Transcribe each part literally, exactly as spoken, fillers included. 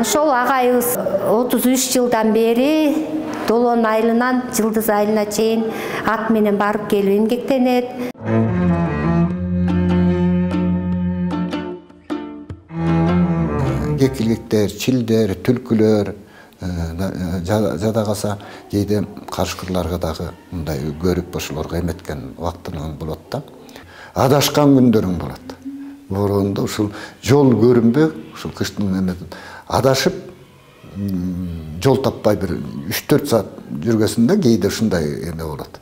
Ошол агайыбыз отуз үч жылдан бери Долон айылынан Жылдыз айылына чейин ат менен барып келип эмгектенет. Кекиликтер, чилдер, түлкүлөр жада калса кээде карышкырларга дагы мындай көрүп ошолорго эметкен убактынан болот да. Адашкан күндөрүң болот. Бороондо ушул жол көрүнбөй, ушул кыштын эметин адашып жол таппай бир үч төрт саат жүргөсүндө кээде ушундай эме болот.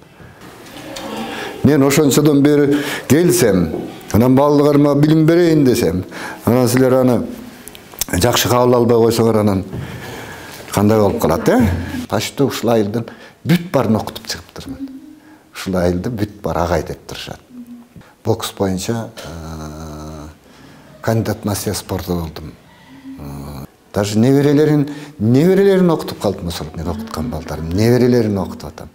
Мен ошончодон бери келсем, анан балдарыма билим берейин десем, анан силер аны жакшы кабыл албай койсоңор анан кандай болуп калат, э? Почти ушул айылдын бүт баарын окутуп чыгыптырмын. Ушул айылды бүт бар агай деп турушат. Бокс боюнча кандидат мастер спорта болдум. Даже неберелерин, неберелерин окутуп калдым, ошол мен окуткан балдарым, неберелерин окутуп атам.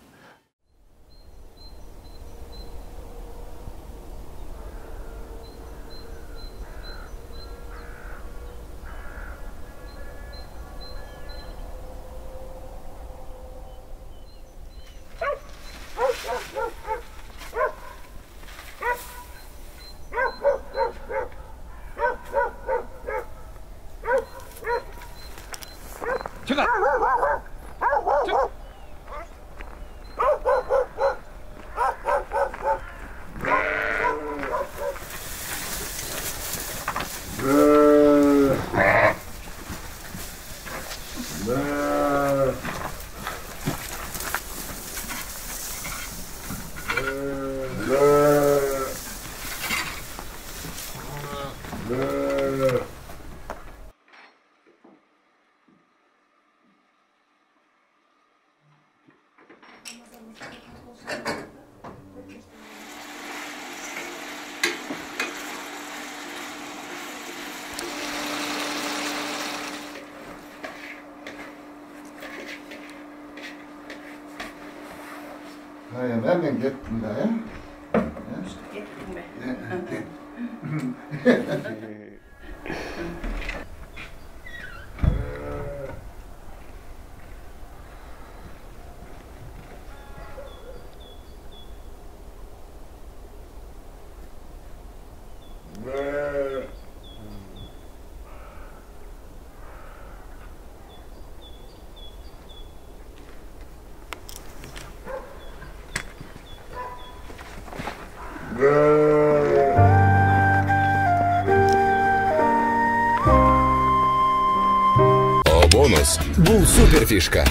Hayır, ben ben gittim de ya. Gittin mi? Бонус. Бул супер фишка.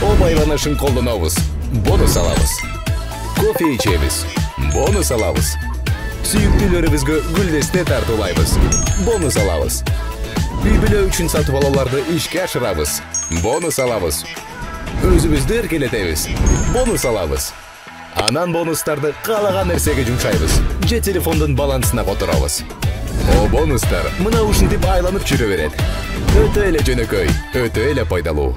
О байланышын колдонобуз. Бонус алабыз. Кофе ичебиз. Бонус алабыз. Сүйүктүүлөрүбүзгө гүлдесте тартуулайбыз. Бонус алабыз. Үй бүлө үчүн сатып алууларды ишке ашырабыз. Бонус алабыз. Өзүбүздү эркелетебиз. Бонус алабыз. Анан бонустарды каалаган нерсеге жумшайбыз. Же телефондун балансына которобуз. О бонустар мына ушинтип айланып жүрө берет. Өтө эле жөнөкөй, өтө эле пайдалуу.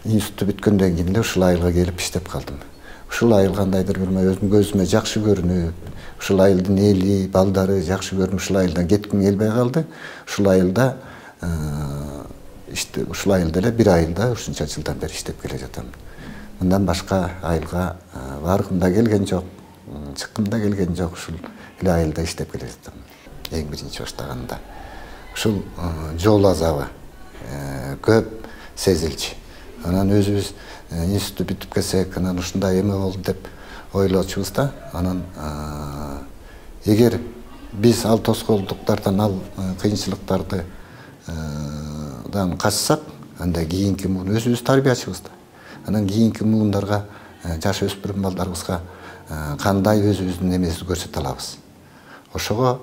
Институтты бүткөндөн кийин эле ушул айылга келип иштеп калдым. Ушул айыл кандайдыр бир өзүм көзүмө жакшы көрүнүп, ушул айылдын эли, балдары жакшы көрүнүп, ушул айылдан кетким келбей калды. Ушул айылда иште ушул айылда эле бир айылда ушунча жылдан бери иштеп келе жатам. Мындан башка айылга баргым да келген жок, чыккым да келген жок, ушул эле айылда иштеп келе жатам. Эң биринчи баштаганда ушул жол азабы көп сезилчү. Анан өзүбүз институтту бүтүп келсек, анан ушундай эме болду деп ойлочубуз да. Анан эгер биз ал тоскоолдуктардан, ал кыйынчылыктарды дан качсак, анда кийинки муун өзүбүз тарбиячыбыз да. Анан кийинки муундарга, жаш өспүрүм балдарыбызга кандай өзүбүздүн эмесин көрсөтө алабыз. ошого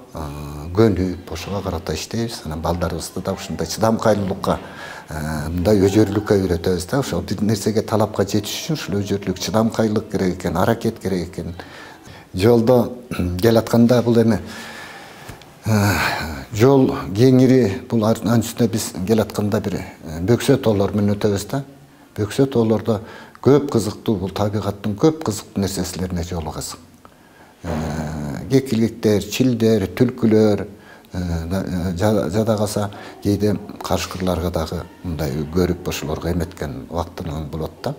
көнүп, ошого карата иштейбиз. Анан балдарыбызды да ушундай чыдамкайлуулукка, мындай өжөрлүккө үйрөтөбүз да. Ошол бир нерсеге талапка жетиш үчүн ушул өжөрлүк, чыдамкайлык керек экен, аракет керек экен. Жолдо келатканда бул эми жол кеңири, бул анын үстүнө биз келатканда бир бөксө тоолор менен өтөбүз да. Бөксө тоолордо көп кызыктуу, бул табигаттын көп кызыктуу нерселерине жолугасың. Кекиликтер, чилдер, түлкүлөр, жада калса кээде карышкырларга дагы мындай көрүп ошолорго эметкен убактынан болот да.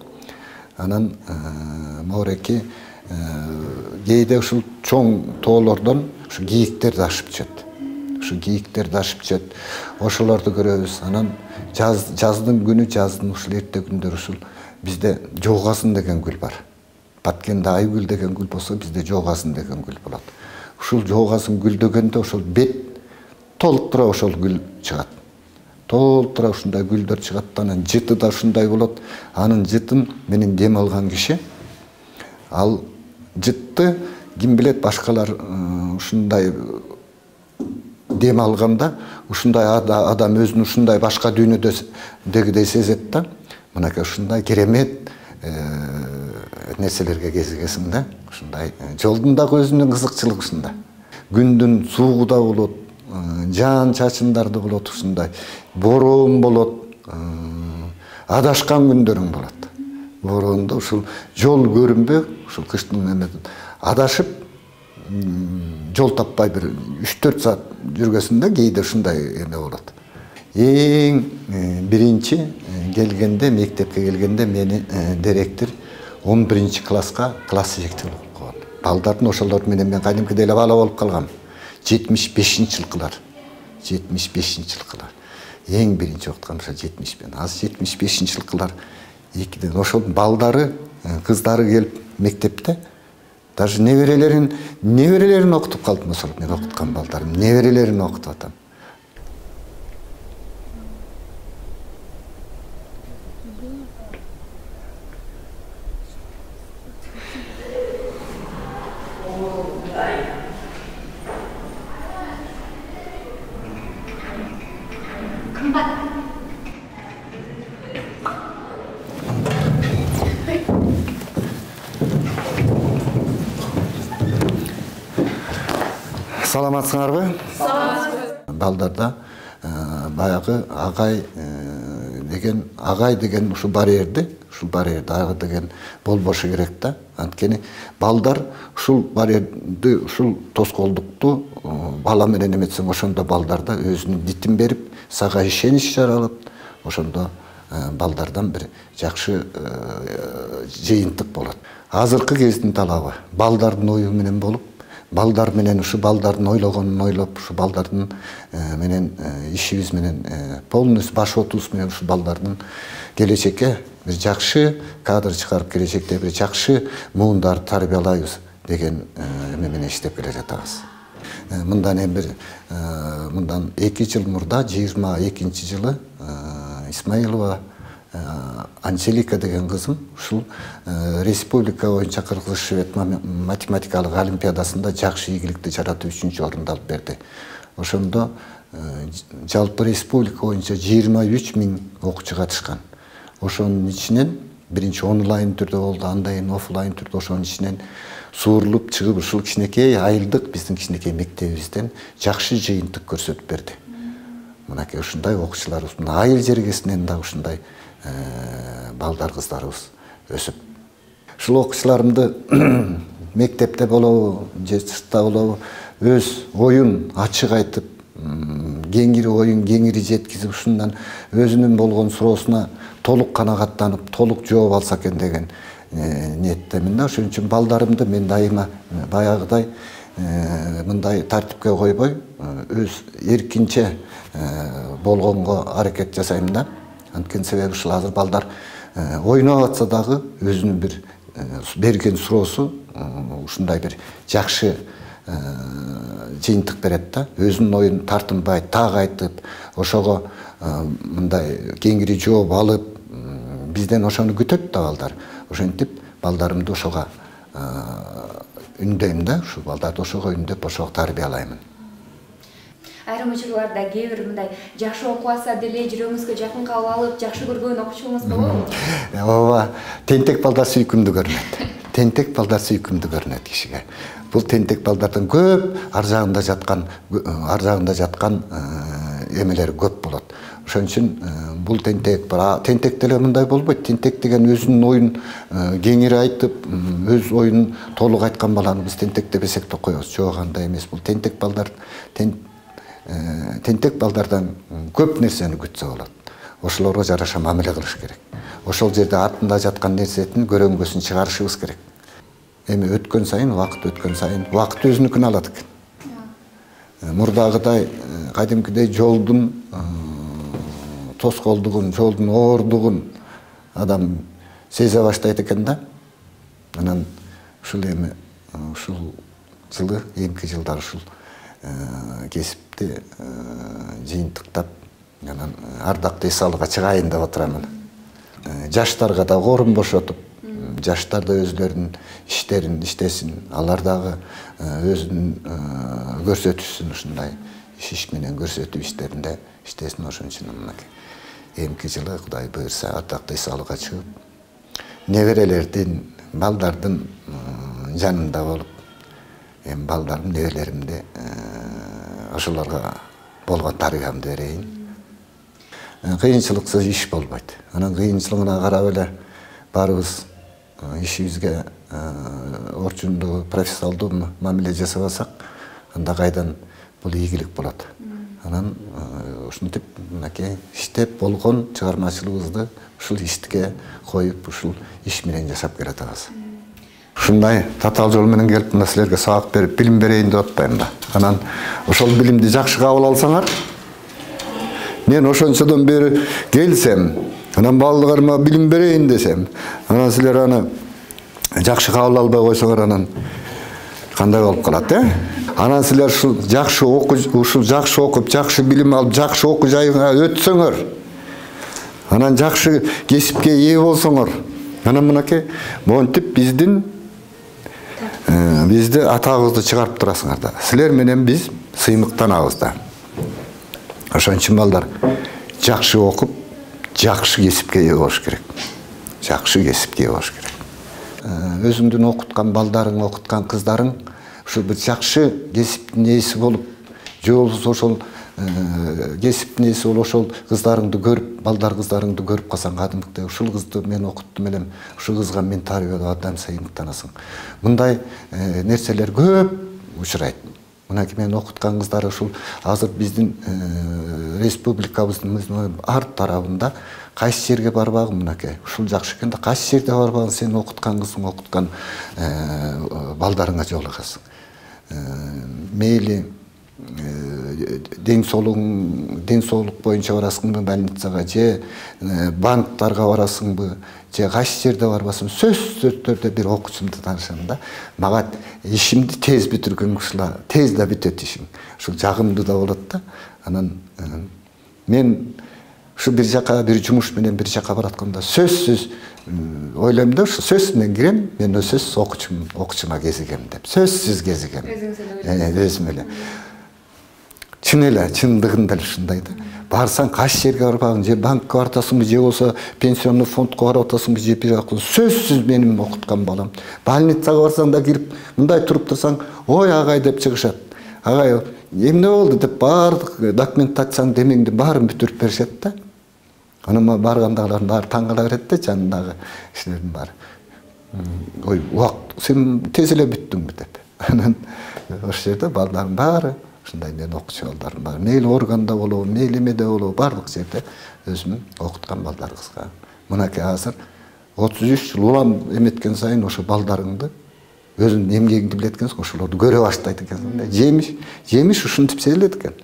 Анан моореки кээде ушул чоң тоолордон ушу кийиктер да ашып түшөт. Ушу кийиктер да ашып түшөт. Ошолорду көрөбүз. Анан жаз жаздын күнү, жаздын ушул эрте күндөр ушул бизде жоогасың деген гүл бар. Баткенде айгүл деген гүл болсо, бизде жоогасың деген гүл болот. Ушул жоогасың гүлдөгөндө ошол бет толуктура ошол гүл чыгат. Толуктура ушундай гүлдөр чыгат. Анан жыты да ушундай болот. Анын жытын менен дем алган киши, ал жытты ким билет башкалар ушундай дем алганда, ушундай адам өзүн ушундай башка дүйнөдөгүдөй сезет да. Мынакей ушундай керемет нерселерге кезигесиң да. Ушундай жолдун дагы өзүнүн кызыкчылыгы ушунда. Күндүн суугу да болот, жаан чачындар да болот, ушундай бороон болот, адашкан күндөрүң болот. Бороондо ушул жол көрүнбөй, ушул кыштын эмеден адашып жол таппай бир үч төрт саат жүргөсүндө кээде ушундай эме болот. Эң биринчи келгенде, мектепке келгенде мени директор он биринчи класска класс жетекчилик кылып койгон. Балдардын ошолор менен мен кадимкидей эле бала болуп калгам. жетимиш бешинчи жылкылар. жетимиш бешинчи жылкылар. Эң биринчи окуткан ошо жетимиш беш. Азыр жетимиш бешинчи жылкылар экиден ошол балдары, кыздары келип мектепте даже неберелерин, неберелерин окутуп калдым ошол мен окуткан балдарым, неберелерин окутуп атам. Саламатсыңарбы? Саламатсыз. Балдарда баягы агай деген, агай деген ушу барьерди, ушул барьерди агай деген болбошу керек да. Анткени балдар ушул барьерди, ушул тоскоолдукту бала менен эметсең, ошондо балдарда өзүнүн дитин берип, сага ишенич жаралып, ошондо балдардан бир жакшы жыйынтык болот. Азыркы кездин талабы балдардын ою менен болуп, балдар менен ушу балдардын ойлогонун ойлоп, ушу балдардын менен ишибиз менен полностью баш отубуз менен ушу балдардын келечекке бир жакшы кадр чыгарып, келечекте бир жакшы муундар тарбиялайбыз деген эме менен иштеп келе жатабыз. Мындан эми бир мындан эки жыл мурда, жыйырма экинчи жылы Исмаилова Анжелика деген кызым ушул республика боюнча Кыргыз Швед математикалык олимпиадасында жакшы ийгиликти жаратып үчүнчү орунду алып берди. Ошондо жалпы республика боюнча жыйырма үч миң окуучу катышкан. Ошонун ичинен биринчи онлайн түрдө болду, андан кийин офлайн түрдө ошонун ичинен суурулуп чыгып ушул кичинекей айылдык биздин кичинекей мектебибизден жакшы жыйынтык көрсөтүп берди. Мынакей ушундай окуучуларыбыз, айыл жергесинен да ушундай балдар кыздарыбыз өсүп. Ушул окуучуларымды мектепте болобу, же сыртта болобу, өз оюн ачык айтып, кеңири оюн кеңири жеткизип, ушундан өзүнүн болгон суроосуна толук канагаттанып, толук жооп алса экен деген ниеттемин да. Ошон үчүн балдарымды мен дайыма баягыдай мындай тартипке койбой, өз эркинче болгонго аракет жасайм да. Анткени себеби ушул азыр балдар ойноп атса дагы өзүнүн бир берген суроосу ушундай бир жакшы жыйынтык берет да. Өзүнүн оюн тартынбай, так айтып, ошого мындай кеңири жооп алып, бизден ошону күтөт да балдар. Ошентип балдарымды ошого үндөйм да, ушу балдарды ошого үндөп ошого тарбиялаймын. Айрым учурларда кээ бир мындай жакшы окуп алса деле жүрөгүңүзгө жакын кабыл алып, жакшы көргөн окуучуңуз болобу? Ооба, тентек балдар сүйкүмдүү көрүнөт. Тентек балдар сүйкүмдүү көрүнөт кишиге. Бул тентек балдардын көп ар жагында жаткан, ар жагында жаткан эмелери көп болот. Ошон үчүн бул тентек, тентек деле мындай болбойт. Тентек деген өзүнүн оюн кеңири айтып, өз оюн толук айткан баланы биз тентек деп эсептеп коебуз. Жок, андай эмес. Бул тентек балдар тентек балдардан көп нерсени күтсө болот. Ошолорго жараша мамиле кылыш керек. Ошол жерде артында жаткан нерсенин көрөңгөсүн чыгарышыбыз керек. Эми өткөн сайын, вакыт өткөн сайын, вакыт өзүнүкүн алат экен. Мурдагыдай, кадимкидей жолдун тоскоолдугун, жолдун оордугун адам сезе баштайт экен да. Анан ушул эми ушул жылы, эмки жылдар ушул кесипти жыйынтыктап, анан ардактуу эс алууга чыгайын деп отурамын. Жаштарга да орун бошотуп, жаштар да өзлөрүнүн иштерин иштесин, алар дагы өзүнүн көрсөтүшсүн, ушундай иш менен көрсөтүү иштеринде иштесин. Ошон үчүн мынакей эмки жылы Кудай буйрса ардактуу эс алууга чыгып, неберелердин, балдардын жанында болуп, эми балдарым, неберелеримди ошолорго болгон тарбиямды берейин. Кыйынчылыксыз иш болбойт. Анан кыйынчылыгына карап эле баарыбыз ишибизге орчундуу, профессионалдуу мамиле жасабасак, анда кайдан бул ийгилик болот. Анан ушинтип мынакей иштеп болгон чыгармачылыгыбызды ушул ишке коюп, ушул иш менен жашап келатабыз. Ушундай татаал жол менен келип, мына силерге сабак берип, билим берейин деп атпайм да. Анан ошол билимди жакшы кабыл алсаңар, мен ошончодон бери келсем, анан балдарыма билим берейин десем, анан силер аны жакшы кабыл албай койсоңор, анан кандай болуп калат, э? Анан силер ушул жакшы окуп, ушул жакшы окуп, жакшы билим алып, жакшы окуу жайга өтсөңөр, анан жакшы кесипке ээ болсоңор, анан мынакей монтип биздин бизди атагыбызды чыгарып турасыңар да. Силер менен биз сыймыктанабыз да. Ошон үчүн балдар жакшы окуп, жакшы кесипке ээ болуш керек. Жакшы кесипке ээ болуш керек. Өзүңдүн окуткан балдарың, окуткан кыздарың ушул бир жакшы кесиптин ээси болуп, же болбосо ошол кесиптин ээси болуп, ошол кыздарыңды көрүп, балдар кыздарыңды көрүп калсаң, кадимкидей ушул кызды мен окуттум элем, ушул кызга мен тарбиялап атам, сыймыктанасың. Мындай нерселер көп учурайт. Мынакей мен окуткан кыздар ушул азыр биздин республикабыздын ар тарабында кайсы жерге барбагын, мынакей ушул жакшы экен да, кайсы жерде барбагын, сен окуткан кызың, окуткан балдарыңа жолугасың. Мейли ден соолугуң, ден соолук боюнча барасыңбы больницага, же банктарга барасыңбы, же кайсы жерде барбасын, сөзсүз түрдө бир окуучумду таанышам да. Мага ишимди тез бүтүргөн кышла, тез да бүтөт ишиң. Ушул жагымдуу да болот да. Анан мен ушу бир жака бир жумуш менен бир жака баратканда сөзсүз ойлойм да, ушу сөз менен кирем, мен сөзсүз окуучум, окуучума кезигем деп. Сөзсүз кезигем. Өзүм эле. Чын эле, чындыгында эле ушундай да. Барсаң кайсы жерге барбагын, же банкка барып атасыңбы, же болсо пенсионный фондко барып атасыңбы, же бир жакка сөзсүз менин окуткан балам. Больницага барсаң да кирип, мындай туруп турсаң, ой агай деп чыгышат. Агай, эмне болду деп баардык документацияны демеңди баарын бүтүрүп беришет да. Анан баргандагылардын баары таң кала берет да, жанындагы кишилердин баары. Ой, убак, сен тез эле бүттүңбү деп. Анан ошол жерде балдардын баары ушундай мен окуучу балдарым бар. Мейли органда болобу, мейли эмеде болобу, бардык жерде өзүмүн окуткан балдарыбызга. Мынакей азыр отуз үч жыл улам эметкен сайын ошо балдарыңды, өзүнүн эмгегиңди билет экенсиң, ошолорду көрө баштайт экенсиң да. Жемиш, жемиш ушинтип сезилет экен.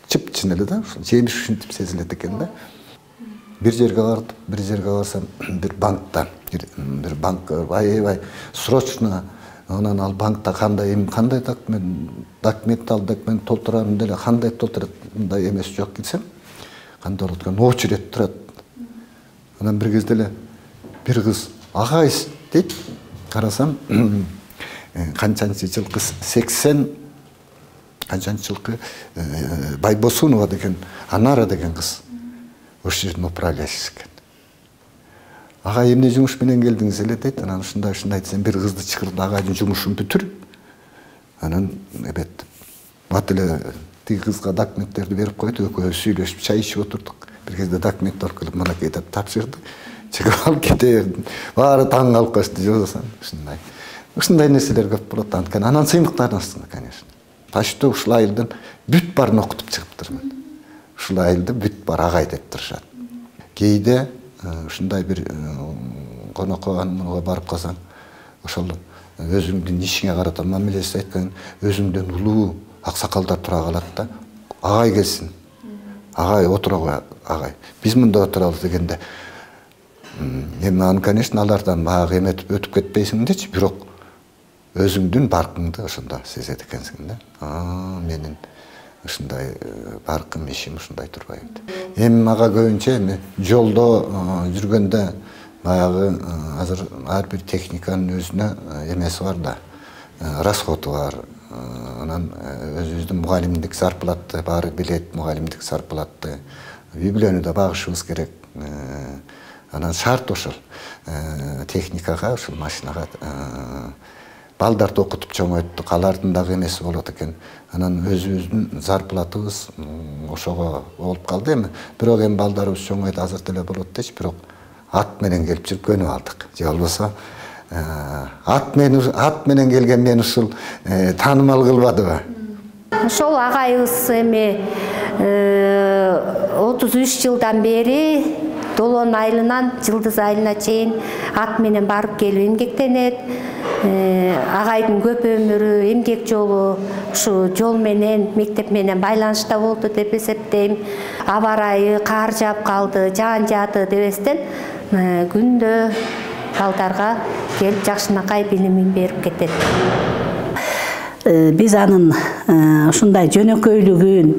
Чып-чын эле да, ушул жемиш ушинтип сезилет экен да. Бир жерге бардым, бир жерге барсам, бир банкта, бир банкка аябай срочно, анан ал банкта кандай эми кандай документ, документ ал документ толтурам деле, кандай толтурат, мындай эмес жок десем, кандай болот экен, очередь турат. Анан бир кезде эле бир кыз агай дейт, карасам, канчанчы жылкы сексен канчанчы жылкы Байбосунова деген Анара деген кыз ошол жердин управляющиси экен. Ага эмне жумуш менен келдиңиз эле дейт. Анан ушундай ушундай десем бир кызды чакырып агайдын жумушун бүтүрүп анан эбет бат эле тиги кызга документтерди берип койду. Экөөбүз сүйлөшүп чай ичип отурдук. Бир кезде документ алып мынакей деп тапшырды. Чыгып алып кете бердим. Баары таң калып калышты. Жолдосам ушундай. Ушундай нерселер көп болот анткени. Анан сыймыктардын астында, конечно. Почти ушул айылдын бүт баарын окутуп чыгыптырмын. Ушул айылды бүт бар агай деп турушат. Кээде ушундай бир конокко анга барып калсаң, ошол өзүңдүн ишиңе карата мамилеси айткан өзүңдөн улуу аксакалдар тура калат да. Агай келсин. Агай отурабы агай. Биз мында отурабыз дегенде эми аны, конечно, алардан баягы эметип өтүп кетпейсиң дечи, бирок өзүңдүн баркыңды ошондо сезет экенсиң да. А, менин ушундай баркым ишим ушундай турбайбы. Эми мага көбүнчө эми жолдо жүргөндө баягы азыр ар бир техниканын өзүнө эмеси бар да, расходу бар. Анан өзүбүздүн мугалимдик зарплаты баары билет, мугалимдик зарплаты. Үй-бүлөнү да багышыбыз керек. Анан шарт ошол техникага, ошол машинага балдарды окутуп чоңойттук, алардын дагы эмеси болот экен. Анан өзүбүздүн зарплатыбыз ошого болуп калды эми. Бирок эми балдарыбыз чоңойду, азыр деле болот дечи, бирок ат менен келип жүрүп көнүп алдык. Же болбосо ат менен ат менен келген мен ушул таанымал кылбадыбы? Ошол агайыбыз эми отуз үч жылдан бери Долон айылынан Жылдыз айылына чейин ат менен барып келип эмгектенет. Агайдын көп өмүрү, эмгек жолу ушу жол менен, мектеп менен байланышта болду деп эсептейм. Аба ырайы кар жаап калды, жаан жаады дебестен күндө балдарга келип жакшынакай билимин берип кетет. Биз анын ушундай жөнөкөйлүгүн,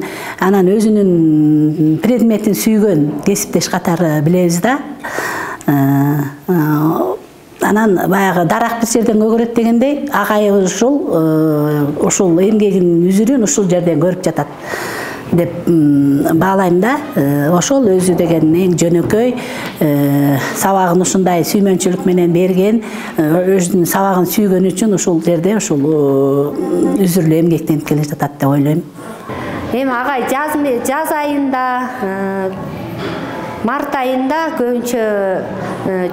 анан өзүнүн предметин сүйгөн кесиптеш катары билебиз да. Анан баягы дарак бир жерден көгөрөт дегендей, агайыбыз ушул ушул эмгегинин үзүрүн ушул жерден көрүп жатат деп баалайм да. Ошол өзү деген эң жөнөкөй, сабагын ушундай сүймөнчүлүк менен берген, өзүнүн сабагын сүйгөн үчүн ушул жерде ушул үзүрлүү эмгектенип келе жатат деп ойлойм. Эми агай жаз жаз айында, март айында көбүнчө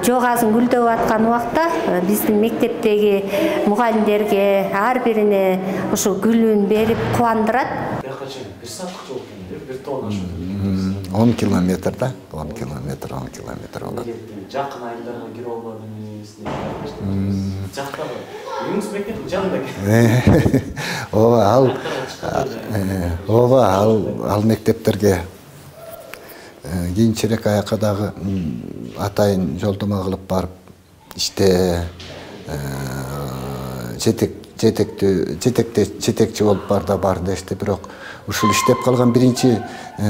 жок азын гүлдөп аткан убакта биздин мектептеги мугалимдерге ар бирине ушул гүлүн берип кубандырат. Bir saatlik жол экен, бир тонна ошо. он километр да, он километр, он километр болот. Жакын айылдарга кире албадыңыз, жактагы үйүңүз мектептин жанында экен. Ооба, ал ооба, ал ал мектептерге кийинчерээк аякка дагы атайын жолдомо кылып барып иште жетек жетекти жетекте жетекчи болуп бар да бар дешти, бирок ушул иштеп калган биринчи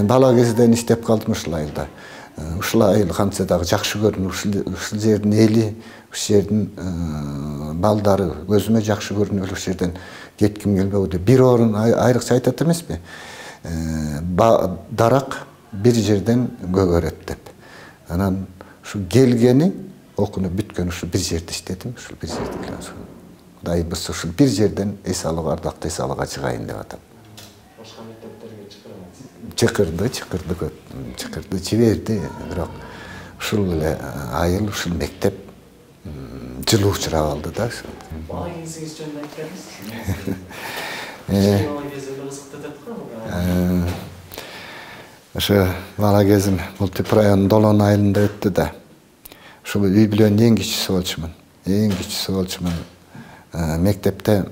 бала кезден иштеп калдым ушул айылда. Ушул айыл кантсе дагы жакшы көрүнүп, ушул жердин эли, ушул жердин балдары көзүмө жакшы көрүнүп, ушул жерден кетким келбеди. Бир орун айрыкча айтат эмеспи? Дарак бир жерден көгөрөт деп. Анан ушу келгени, окунуп бүткөн ушул бир жерде иштедим, ушул бир жерде. Кудайыбыз ушул бир жерден эс алып ардактуу эс алыга чыгайын деп атам. Башка мектептерге чакырабыз. Чакырды, чакырды көп, чакырды, жиберди, бирок ушул эле айыл, ушул мектеп жылуу учурап алды да. Бала кезиңиз жөнүндө айтып бериңиз. Бала кези эле кызыктуу деп коебу. Ошо бала кезим Мултип районунун Долон айылында өттү да. Ушул үй-бүлөнүн эң кичүүсү болчумун. Эң кичүүсү болчумун. Мектепте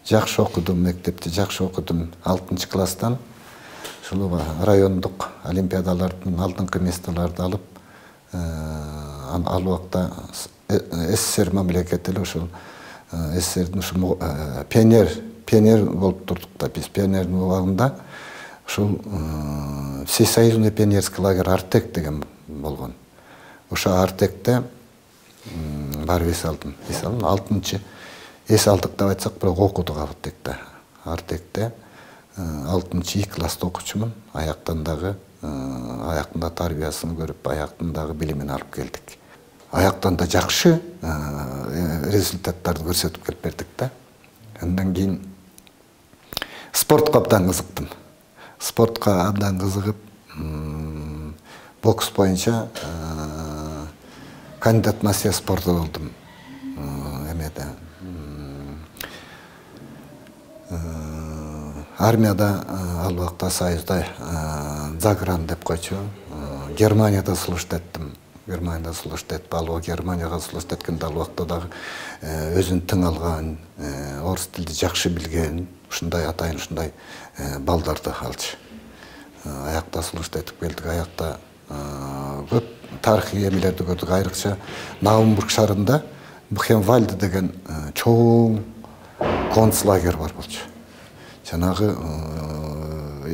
жакшы окудум, мектепте жакшы окудум. алтынчы класстан ушул райондук олимпиадалардын алдыңкы местолорду алып, ал убакта СССР мамлекети эле ушул СССРдин ушул пионер пионер болуп турдук да. Биз пионердин убагында ушул всесоюзный пионерский лагерь Артек деген болгон. Ошо Артекте барып эс алдым. Эс алдым. алтынчы эс алдык деп айтсак, бирок окудук Артекте. Артекте алтынчы И класста окучумун. Аяктан дагы аяктында тарбиясын көрүп, аяктан дагы билимин алып келдик. Аяктан да жакшы результаттарды көрсөтүп келип бердик да. Андан кийин спортко абдан кызыктым. Спортко абдан кызыгып, бокс боюнча кандидат мастер спорта болдум. Эмеде армияда ал убакта Союзда загран деп койчу. Германияда служба эттим. Германияда служба этип, ал Германияга служба эткенде ал убакта дагы өзүн тың алган, орус тилди жакшы билген, ушундай атайын ушундай балдарды алчу. Аякта служба этип келдик. Аякта көп тарыхый эмелерди көрдүк. Айрыкча Наумбург шаарында Бухенвальд деген чоң концлагер бар болчу. Жанагы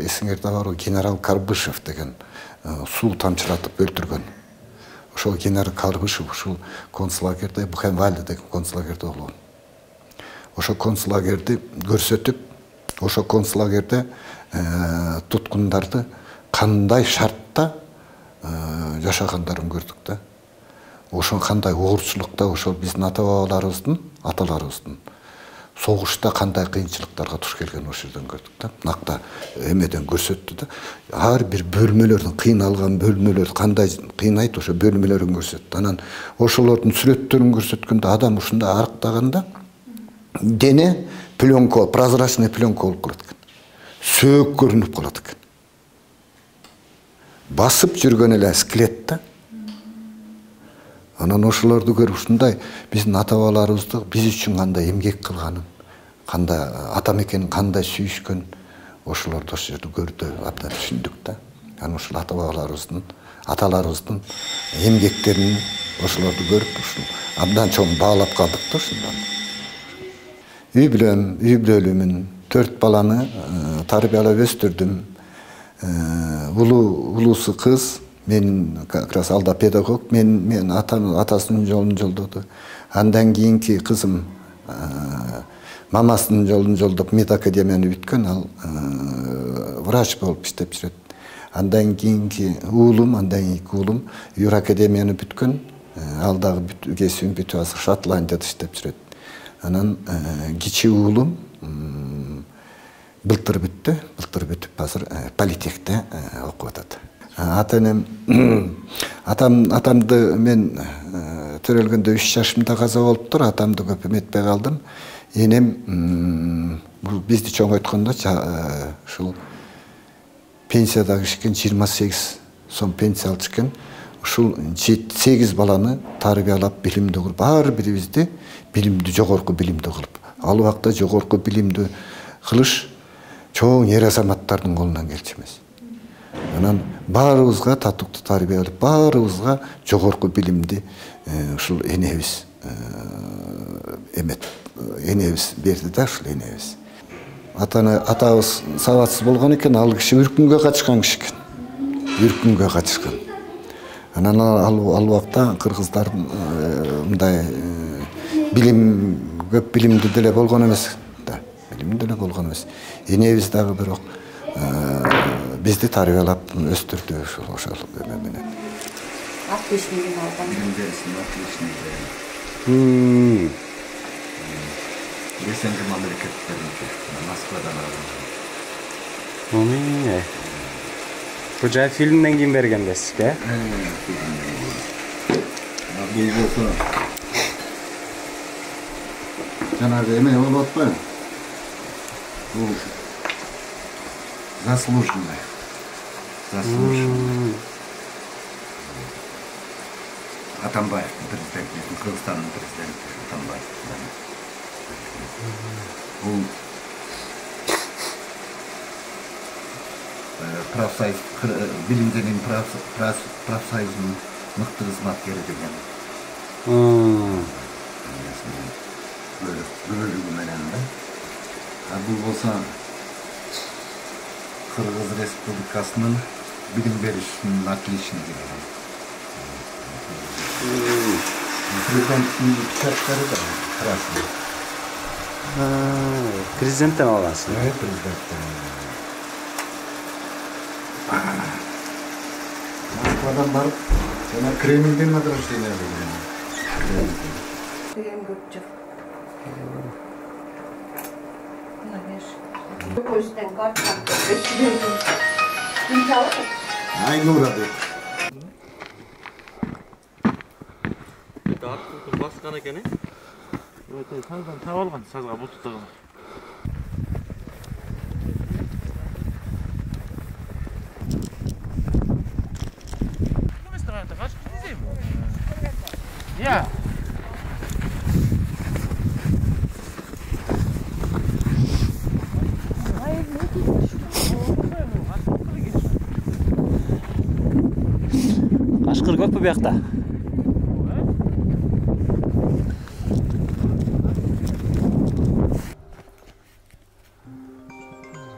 эсиңерде бар генерал Карбышев деген суу тамчылатып өлтүргөн. Ошол генерал Карбышев ушул концлагерде Бухенвальд деген концлагерде болгон. Ошол концлагерди көрсөтүп, ошол концлагерде туткундарды кандай шартта жашагандарын көрдүк да. Ошол кандай оорчулукта, ошол биздин ата-бабаларыбыздын, аталарыбыздын согушта кандай кыйынчылыктарга туш келген ошол жерден көрдүк да. Накта эмеден көрсөттү да. Ар бир бөлмөлөрдүн, кыйналган бөлмөлөр кандай кыйнайт, ошо бөлмөлөрүн көрсөттү. Анан ошолордун сүрөттөрүн көрсөткөндө адам ушундай арыктаганда дене пленка, прозрачный пленка болуп калат экен. Сөөк көрүнүп калат экен. Басып жүргөн эле скелет да. Анан ошолорду көрүп ушундай биздин ата-бабаларыбызды биз үчүн кандай эмгек кылганын, кандай ата мекенин кандай сүйүшкөн, ошолорду ошол жерде көрдү, абдан түшүндүк да. Анан ошол ата-бабаларыбыздын, аталарыбыздын эмгектерин ошолорду көрүп, ушул абдан чоң баалап калдык да ушундан. Үй бүлөм, үй бүлөлүмүн, төрт баланы тарбиялап өстүрдүм. Улуу улуусу кыз, мен как раз алда педагог, мен мен атасынын жолун жолдоду. Андан кийинки кызым мамасынын жолун жолдоп медакадемияны бүткөн, ал врач болуп иштеп жүрөт. Андан кийинки уулум, андан кийинки уулум юракадемияны бүткөн, ал дагы кесибин бүтүп азыр Шотландияда иштеп жүрөт. Анан кичи уулум былтыр бүттү, былтыр бүтүп азыр политехте окуп атат. Ата-энем, атам атамды мен төрөлгөндө үч жашымда каза болуптур, атамды көп эметпей калдым. Энем бул бизди чоңойткондо ушул пенсияда кишкен жыйырма сегиз сом пенсия алчу экен. Ушул сегиз баланы тарбиялап, билимдүү кылып, ар бирибизди билимдүү, жогорку билимдүү кылып. Ал убакта жогорку билимдүү кылыш чоң эр азаматтардын колунан келчү эмес. Анан баарыбызга татыктуу тарбия берип, баарыбызга жогорку билимди ушул энебиз эмет, энебиз берди да, ушул энебиз. Атаны атабыз сабатсыз болгон экен, ал киши үркүнгө качкан киши экен. Үркүнгө качкан. Анан ал убакта кыргыздардын мындай билим көп билимдүү деле болгон эмес да, билимдүү деле болгон эмес. Энебиз дагы бирок бизди тарбиялап өстүрдү ошол ошол эме менен. Отличный алган. Мм. Ресенди мамлекеттеринде Москвадан алган. Мм. Бул жай фильмден кийин берген да сизге? Бул болсо жанагы эме болуп атпайбы? Бул заслуженный. Заслуженный. Атамбаев президент, Кыргызстандын президенти Атамбаев. Бул профсоюз, билим деген профсоюздун мыкты кызматкери деген. Бөлүгү менен да. А бул болсо Кыргыз Республикасынын билим беришинин отличниги деген. Президенттин печаттары да красный. Президенттен алгансыз. Э, президенттен. Москвадан барып, жана Кремльден награждение алган. Деген көп жок. Көчтөн картка беришти. Айнура деп. Артын баскан экен, э? Өтө саздан таап алган, сазга бутуктаган. Я. Кашкыр көппү биякта?